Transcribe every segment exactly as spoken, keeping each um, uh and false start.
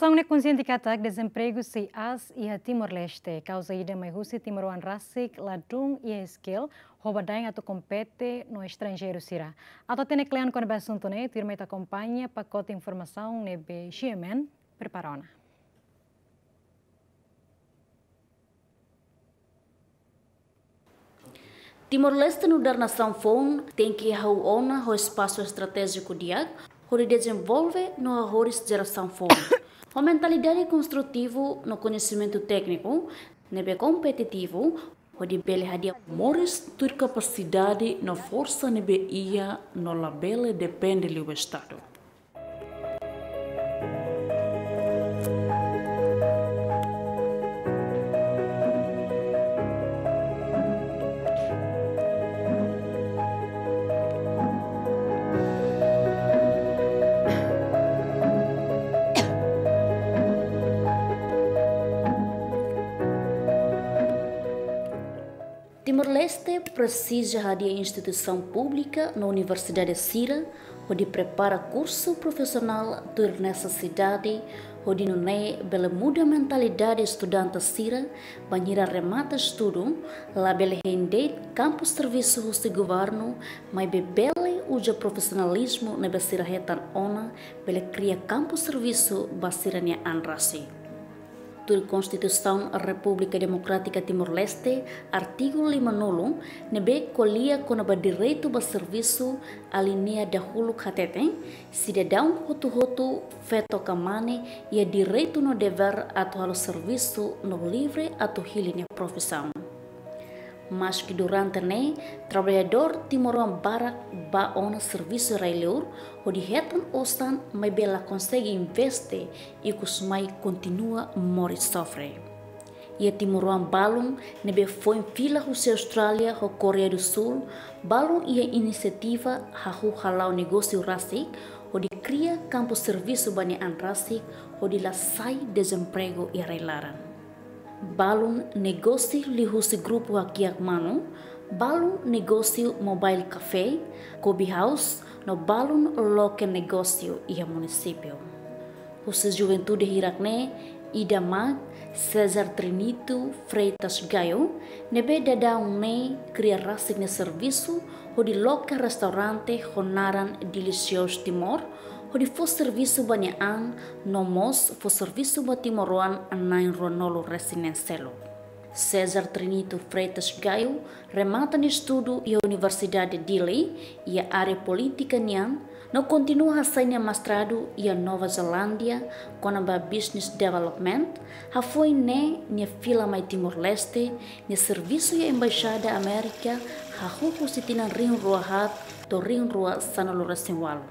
Situasaun ne'e konsiente katak dezempregu sei aas iha Timor-Leste, kauza ida mai husi timoroan rasik ladún iha skill, ho badaen atu kompete no estranjeiru sira. Atu hatene kle'an kona-ba asuntu ne'e, tuirmai ita akompaña pakote informasaun ne'ebé G M N prepara ona. Timor-Leste nu'udar nasaun foun tenke hahú ona ho espasu estratéjiku di'ak, hodi dezenvolve no hahoris jerasaun foun. Ho mentalidade konstrutivu no koñesimentu tékniku ne'ebé kompetitivu, hodi bele hadi'a moris tuir kapasidade no forsa ne'ebé iha no labele depende liu Estadu. Timor-Leste presiza hadi'a instituisaun públika no universidade sira hodi prepara kursu profisionál tuir nesesidade, hodi nune'e bele muda mentalidade estudante sira, bainhira remata estudu, labele hein de'it kampu servisu husi governu, maibé bele uza profisionalizmu ne'ebé sira hetan ona, bele kria kampu servisu ba sira-nia an rasik. Tuir Konstituisaun Repúblika Demokrátika Timor-Leste, artigu lima-nulu, ne'ebé ko'alia kona-ba direitu ba servisu, alinéa dahuluk hateten, sidadaun hotu-hotu, feto ka mane, iha direitu no devér atu halo servisu no livre atu hili nia profisaun. Maski durante ne'e, traballadór timoroan barak bá ona servisu rai-liur, hodi hetan osan, maibé la konsege investe, ikusmai kontinua moris sofre. Iha timoroan balun ne'ebé foin fila husi Austrália ho Koreia do Sul, balun iha inisiativa hahú hala'o negósiu rasik, hodi kria kampu servisu ba nia an rasik, hodi la sai dezempregu iha rai-laran. Balun negósiu liuhusi grupu hakiak manu, balun negósiu mobile café, coffee house, no balun loke negósiu iha munisípiu. Husi juventude hirak ne'e, ida mak César Trinito Freitas Gayo, ne'ebé daudaun ne'e kria rasik nia servisu, hodi loke restaurante ho naran Delicious Timor, hodi fó servisu ba nia an, no mós fó servisu ba timoroan na'in ruanulu resin neen seluk. César Trinito Freitas Gayo remata nia estudu iha Universidade Dili, iha área polítika nian, no kontinua hasai nia mestradu iha Nova Zelándia, kona-ba business development, hafoin ne'e nia fila mai Timor-Leste, nia servisu iha Embaixada Amérika, hahú husi tinan rihun rua haat to'o rihun rua sanulu resin ualu.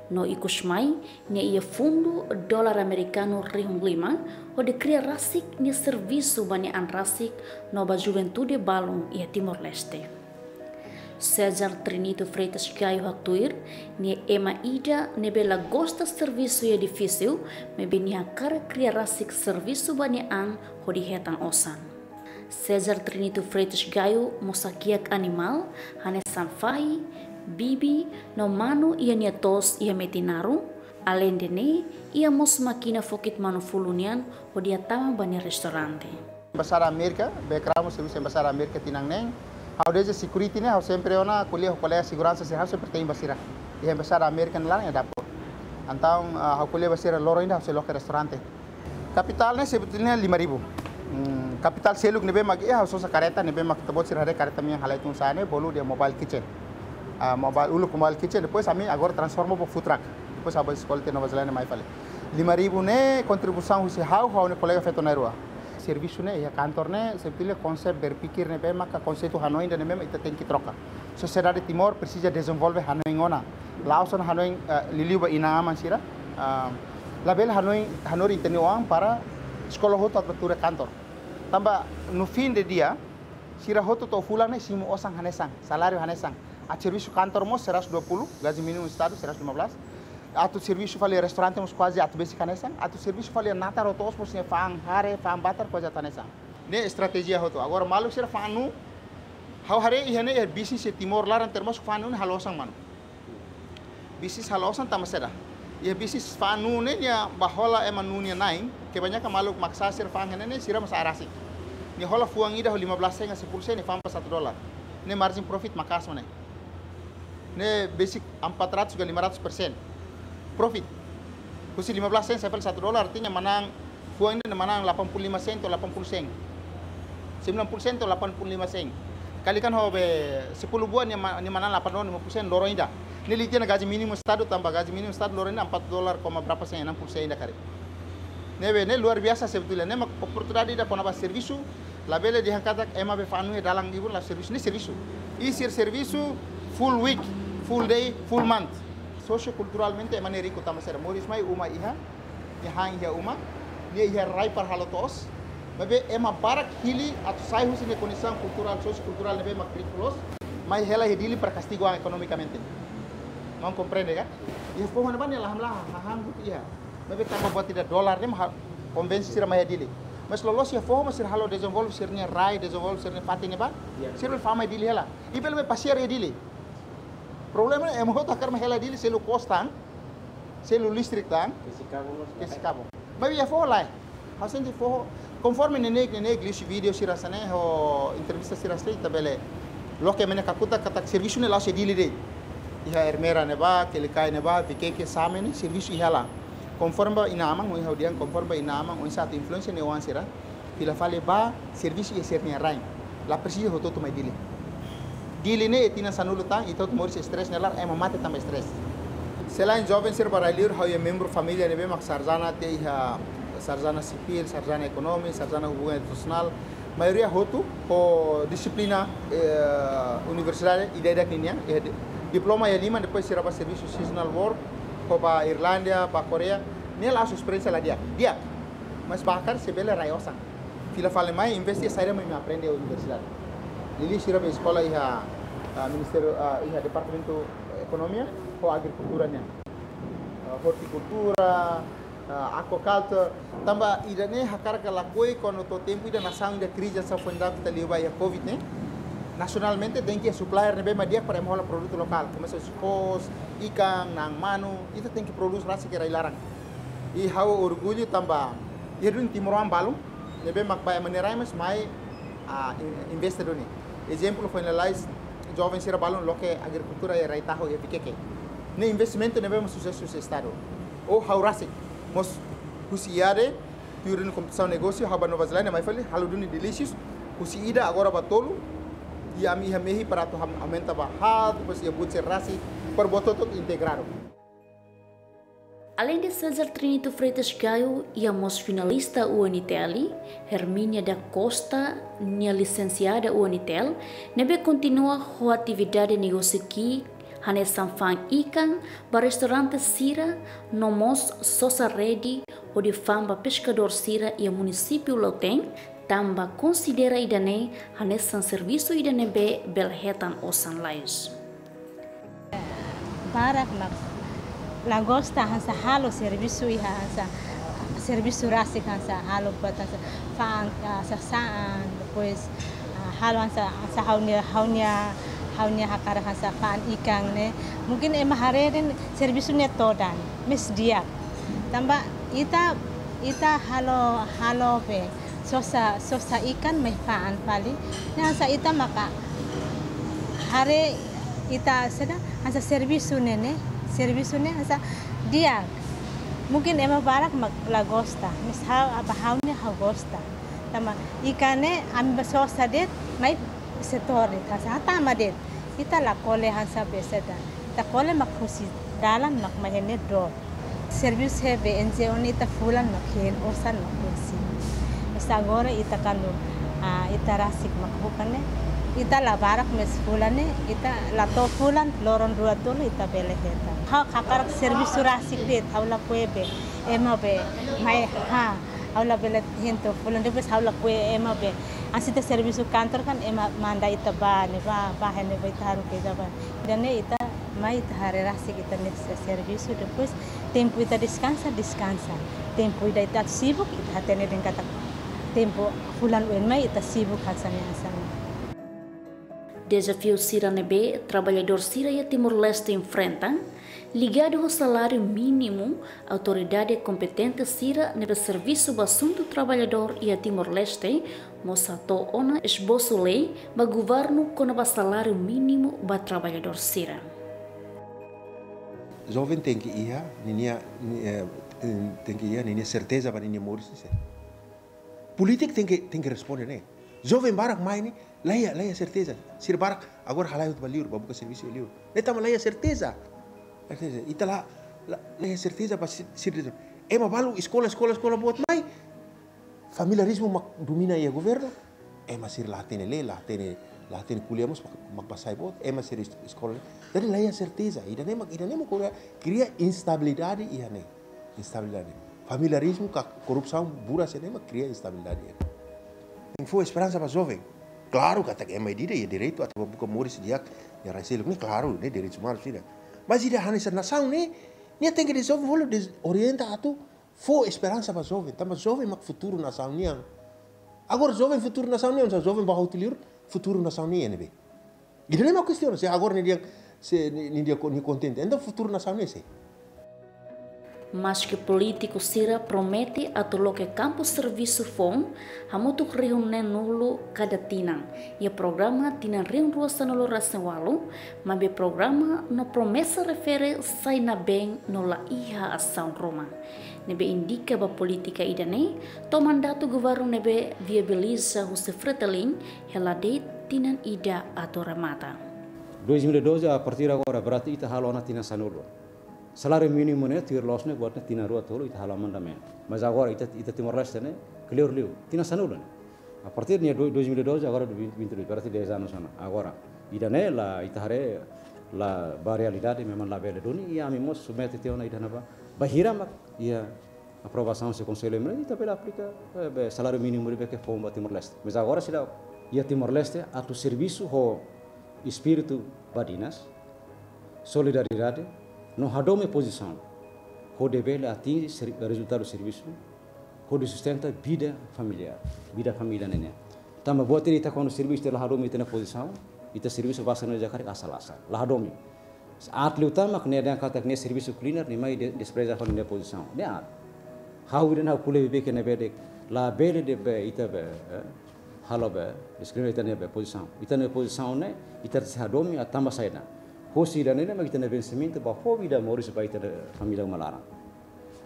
No ikusmai, nia iha fundu dolar amerikanu rihun lima, hodi kria rasik nia servisu ba nia an rasik no ba juventude balun iha Timor-Leste. César Trinito Freitas Gayo haktuir, nia ema ida ne'ebé la gosta servisu iha edifísiu, maibé nia hakarak kria rasik servisu ba nia an hodi hetan osan. César Trinito Freitas Gayo mós hakiak animál, hanesan fahi, bibi, no manu iha nia to'os iha Metinaro. Aleinde ne'e, iha mós mákina fokit manu fulun nian hodi hatama ba nia restaurante. Embaixada Amérika, background servisu Embaixada Amérika tinan neen. Ha'u desde security ne'e, ha'u sempre ona ko'alia ho kolega seguransa sira, ha'u sempre te'in ba sira. Iha Embaixada Amérika nia laran iha dapur. Entaun, ah, ha'u ko'alia ba sira loron ida ha'u sei loke restaurante. Kapitál ne'e sebetulnya lima ribu. Hmm, kapitál seluk ne'ebé mak iha, ha'u sosa kareta ne'ebé mak ita-boot sira haree kareta mean halai tun sa'e ne'e, bolu dehan mobile kitchen. Ah, mobile, uluk mobile kitchen, depois ami agora transforma ba food truck. Depois ha'u bá eskola tiha Nova Zelándia mai fali. Lima ribu ne'e kontribuisaun husi ha'u, ha'u-nia kolega feto na'in-rua. Servisu ne'e iha kantor ne'e, sebetulnya konsep berpikir ne'ebé maka konseitu hanoin ida ne'ebé mak ita tenke troka. Sosiedade Timor presiza dezenvolve hanoin ona. La'ós ona hanoin, eh, liuliu ba inan-aman sira. Ah, labele hanoin, hanorin ita-nia oan para eskola hotu atu bá tuur iha kantor. Tanba no fim de dia, sira hotu to'o fulan ne'e simu osan hanesan, saláriu hanesan. Atu servisu kantor mós seratus dua puluh, gaji mínimu Estadu seratus lima belas. Atu servisu fali restaurante mós kuaze atu besik hanesan. Atu servisu fali natar ho to'os mós ne'e fa'an hare, fa'an batar kuaze atu hanesan. Ne'e estratéjia hotu. Agora maluk sira fa'an nu, ha'u haree iha ne'e iha bisnis iha Timor laran termasuk fa'an nu ne'e halo osan manu. Bisnis halo osan tanba saida? Iha bisnis fa'an nuu ne'e, nia bá hola ema nuu nia na'in, kebanyakan maluk Makassar sira fa'an ne'e, ne'e sira mós sa'e rasik. Nia hola fuan ida ho lima belas sen ka sepuluh sen, nia fa'an ba satu dolar. Ne'e margin profit maka'as mak ne'e. Ne'e besik empat ratus ka lima ratus persen profit. Husi lima belas sen sampai satu dolar, artinya manán fuan ida manán delapan puluh lima sen to'o delapan puluh sen. Sembilan puluh sen to'o delapan puluh lima sen. Kalikan ho be sepuluh buah, nia ma-, nia manán delapan dolar lima puluh sen loron ida. Ne'e leten ona gaji mínimu Estadu, tanba gaji mínimu Estadu loron ida empat dolar koma berapa sen, enam puluh sen ida karik. Ne'ebé ne'e luar biasa sebetulnya. Ne'e mak oportunidade ida kona-ba servisu, labele dehan katak ema be fa'an nuu iha dalan ibun la servisu, ne'e servisu. I sira servisu full week, full day, full month. Sosiokulturalmente ema ne'e riku tanba sira moris mai uma iha, nia han iha uma, nia iha rai para halo to'os. Maibé ema barak hili atu sai husi nia kondisaun kulturál, sosiokulturál ne'ebé mak riku loos, mai hela iha Dili para kastigu an ekonomikamente. Maun komprende ka? Iha foho ne'ebá nia la hamlaha, hahán hotu iha. Maibé tanba buat ida dolar ne'e mak konvense sira mai iha Dili. Mas loloos iha foho mak sira halo dezenvolve sira-nia rai, dezenvolve sira-nia fatin ne'ebá. Ya. Sira bele fa'an mai Dili hela. I bele mai pasiar iha Dili. Problema ne'e ema hotu hakarak mai hela Dili, selu kos tan, selu listrik tan, kesi kabun mós. Kesi kabun. Maibé iha foho lae. Ha'u sente foho, konforme neineik, neineik liuhusi vídeo sira hanesan ne'e, ho entrevista sira hanesan ne'e, ita bele loke ema nia kakutak katak servisu ne'e la'ós iha Dili de'it. Iha Ermera ne'ebá, Quelicai ne'ebá, Viqueque, Same ne'e, servisu iha laran. Konforme ba inan-aman, ohin ha'u dehan konforme ba inan-aman, oinsá atu influensia nia oan sira, fila fali bá servisu iha sira-nia rain. La presiza hotu-hotu mai Dili. Dili ne'e tinan sanulu tan, ita hotu moris stress nia laran, ema mate tanba stress. Selain joven sira ba rai-liur, ha'u iha membru família ne'ebé mak sarjana tiha iha, sarjana sipil, sarjana ekonomia, sarjana hubungan internasionál. Maioria hotu ho dixiplina, eh, universidade ida-idak ninian, eh, di-, diploma iha liman, depois sira bá servisu seasonal work, ho bá Irlandia, bá Koreia, ne'e la'ós esperiénsia la di'ak. Di'ak. Mas bá hakarak se bele rai osan. Fila fali mai, investe saida mak imi aprende iha universidade. Liuliu sira be eskola iha, ah, ministériu, ah, iha departamentu ekonomia ho agrikultura nian. Ah, hortikultura, ah, aquaculture. Tanba ida-ne'e hakarak ka lakohi kuandu to'o tempu ida nasaun ida krize hanesan foin daudauk ita liu ba iha covid ne'e. Nasionalmente tenke supplier ne'ebé mak di'ak para ema hola produtu lokál. Komesa husi foos, ikan, na'an manu, ita tenke prodús rasik iha rai-laran. I ha'u orgullu tanba iha duni timoroan balun ne'ebé mak bá ema nia rai mas mai, ah, in-, investe duni. Ezemplu foin lalais, joven sira balun loke agrikultura iha rai-tahu iha Viqueque. Ne'e investimentu ne'ebé mak susesu husi Estadu. Ou ha'u rasik mós husi IADE, tuir duni kompetisaun negósiu, ha'u bá Nova Zelándia, mai fali halo duni Delicious, husi ida agora bá tolu, i ami iha mehi para atu ham-, aumenta ba haat, depois iha buat sira rasik, para buat hotu-hotu integradu. Além de César Trinito Freitas Gayo, iha mós finalista UNTL, Hermínia da Costa, nia lisensiada UNTL, ne'ebé kontinua ho atividade negósiu ki'ik, hanesan fa'an ikan ba restaurante sira, no mós sosa rede hodi fa'an ba peskadór sira iha munisípiu Lautém, tanba konsidera ida-ne'e hanesan servisu ida ne'ebé bele hetan osan lais. Barak mak la gosta hanesan halo servisu iha hanesan servisu rasik hanesan halo buat hanesan fa'an, ah, sasán, depois, ah, halo hanesan, hanesan ha'u-nia, ha'u-nia, ha'u-nia hakarak hanesan fa'an ikan ne'e. Mungkin ema haree dehan servisu ne'e todan, mais di'ak. Tanba ita, ita halo, halo be sosa, sosa ikan mai fa'an fali. Ne'e hanesan ita maka haree ita saida hanesan servisu ne'e, ne'e, servisu ne'e hanesan di'ak. Mungkin ema barak mak la gosta, mais ha'u, ba ha'u-nian ha'u gosta. Tanba ikan ne'e ami bá sosa de'it, mai setór de'it, hanesan hatama de'it. Ita la kole hanesan be saida. Ita kole mak husi dalan mak mai iha ne'e dook. Servisu iha be NGO ne'e ita fulan mak hein, osan mak husi. Mais agora ita kuandu, ah, ita rasik mak buka ne'e, ita la barak mais fulan ne'e, ita la to'o fulan, loron rua tolu ita bele hetan. Ha'u hakarak servisu rasik de'it, ha'u lakohi be ema be mai, ha, ha'u labele hein to'o fulan, depois ha'u lakohi ema be. Hanesan ita servisu kantor kan ema manda ita bá ne'ebá, bá iha ne'ebá ita haruka ita bá. Ida-ne'e ita mai ita haree rasik ita-nia servisu, depois tempu ita deskansa, deskansa. Tempu ida ita sibuk, ita hatene dehan katak tempu fulan oin mai ita sibuk hanesan ne'e, hanesan ne'e. Dezafiu sira ne'ebé traballadór sira iha Timor-Leste enfrenta, Ligadu ho saláriu mínimu, autoridade kompetente sira ne'ebé servisu ba asuntu traballadór iha Timor-Leste mós hato'o ona esbosu lei ba governu kona-ba saláriu mínimu ba traballadór sira. Joven tenke iha ninia, ni-, eh, tenke iha ninia serteza ba ninia moris ne'e. Polítiku tenke, tenke responde ne'e. Joven barak mai ne'e, la iha, la iha serteza. Sira barak agora halai hotu ba liur, ba buka servisu liur. Ne'e tanba la iha serteza. Serteza. Ita la, la, la iha serteza ba si-, sira. Ema balu eskola, eskola, eskola boot mai. Familiarizmu mak domina iha governu. Ema sira la hatene lee, la hatene, la hatene ko'alia mós mak, mak bá sai boot. Ema sira es-, eskola. Jadi la iha serteza. Ida-ne'e mak, ida-ne'e mak kria, kria instabilidade iha ne'e. Instabilidade. Familiarizmu ka korrupsaun buras ne'e mak kria instabilidade. Tenke fó esperansa ba joven. Klaru katak ema ida-idak iha direitu atu buka moris di'ak iha rai seluk ne'e, klaru, ne'e direitu umanus ida. Mas ida hanesan nasaun ne'e, nia tenke dezenvolve, des-, orienta atu fó esperansa ba joven. Tanba joven mak futuru nasaun nian. Agora joven futuru nasaun nian, se joven bá hotu liur, futuru nasaun nian ne'ebé? Ida-ne'e mak kestiona, se agora nia dehan, se nia, nia dehan ko-, nia kontente. Entaun futuru nasaun ne'e sé? Maske polítiku sira promete atu loke kampu servisu foun hamutuk rihun neen-nulu kada tinan iha programa tinan rihun rua sanulu-resin-ualu, maibé programa no promesa refere sai nabeen no la iha asaun ruma. Ne'ebé indika ba polítika ida-ne'e to'o mandatu governu ne'ebé viabiliza husi Fretilin hela de'it tinan ida atu remata. Dois mil e doze, a partir agora, berarti ita halo ona tinan sanulu. Saláriu mínimu ne'e, tuir loos ne'e, buat ne'e tinan rua tolu ita halo amendamentu. Mas agora, ita, ita Timor-Leste ne'e, kleur liu, tinan sanulu ne'e. A partir de do-, dois mil e doze, agora do vinte, vinte e dois, berarti dez anos ona. Agora, ida-ne'e la, ita haree, la ba realidade, memang labele duni, i ami mós submete tiha ona ida-ne'ebá. Bainhira mak iha aprovasaun husi Konsellu Emerjénsia, ita bele aplika, eh, be, saláriu mínimu ne'ebé ke foun ba Timor-Leste. Mas agora seidauk, iha Timor-Leste, atu servisu ho espíritu badinas, solidariedade, no hadomi pozisaun, hodi bele atinje ser-, rezultadu servisu, hodi sustenta vida familiár, vida família ne'e nian. Tanba buat ida ita kuandu servisu ita la hadomi ita-nia pozisaun, ita servisu basa no jakarik asal-asal, la hadomi. Aat liután mak nia dehan katak nia servisu cleaner, nia mai de-, despreza fali nia pozisaun. Ne'e aat. Ha'u ida-ne'e ha'u ko'alia beibeik iha ne'ebé de'it, labele de'it be ita be, eh, halo be, diskriminasaun ita-nia be pozisaun. Ita-nia pozisaun ne'e, ita sei hadomi, ah, tanba saida. Husi ida-ne'e mak ita-nia vensimentu ba fó vida moris ba ita-nia família uma laran.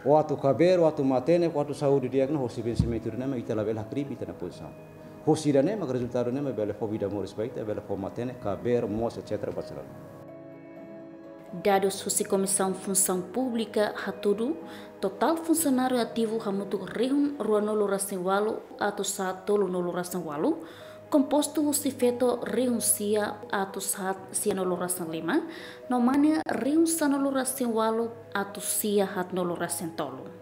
Ou atu kabeer, ou atu matenek, ou atu saúde di'ak ne'e, husi vensimentu ida-ne'e mak ita labele hakribi ita-nia pozisaun. Husi ida-ne'e mak rezultadu ne'e mak bele fó vida moris ba ita, bele fó matenek, kabeer, moos, et cetera ba sira. Dadus husi Komisaun Funsaun Públika hatudu, totál funsionáriu ativu hamutuk rihun ruanulu-resin-ualu atus haat tolunulu-resin-ualu, kompostu husi feto rihun sia atus haat sianulu-resin-lima, no mane rihun sanulu-resin-ualu atus sia haatnulu-resin-tolu.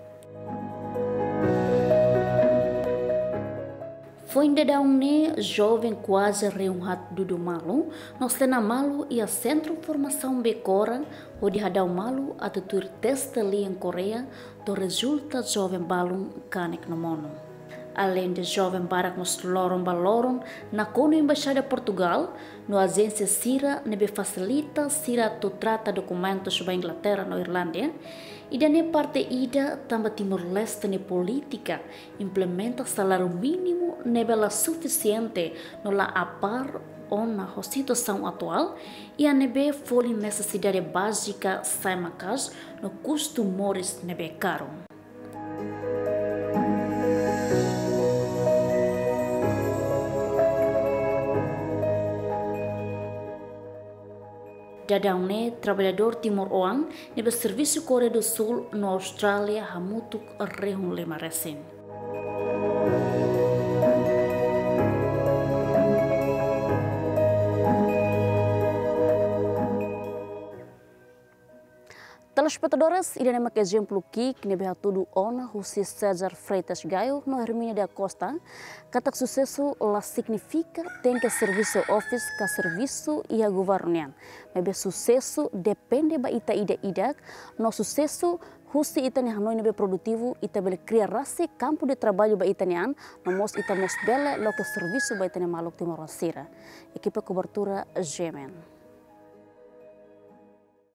Foin daudaun ne'e, joven kuaze rihun haat dudu malu, no sena malu iha Sentru Formasaun Becora, hodi hadau malu atu tuir teste lian Koreia, to'o rezulta joven balun kanek no monu. Aleinde joven barak mós loron ba loron nakonu Embaixada Portugal no ajénsia sira ne'ebé fasilita sira atu trata dokumentus ba Inglaterra no Irlanda. Ida-ne'e parte ida tanba Timor-Leste nia polítika implementa saláriu mínimu ne'ebé la sufisiente no la apár ona ho situasaun atuál, iha ne'ebé folin nesesidade bázika sai maka'as no kustu moris ne'ebé karu. Daudaun ne'e, traballadór timoroan ne'ebé servisu Koreia do Sul no Austrália hamutuk rihun lima resin. Telespetadores, ida-ne'e mak ezemplu ki'ik ne'ebé hatudu ona husi César Freitas Gayo no Hermínia da Costa, katak susesu la signifika tenke servisu iha office ka servisu iha governu nian. Maibé susesu depende ba ita ida-idak, no susesu husi ita-nia hanoin ne'ebé produtivu, ita bele kria rasik kampu de traballu ba ita-nia an, no mós ita mós bele loke servisu ba ita-nia maluk timoroan sira. Ekipa kobertura G M N.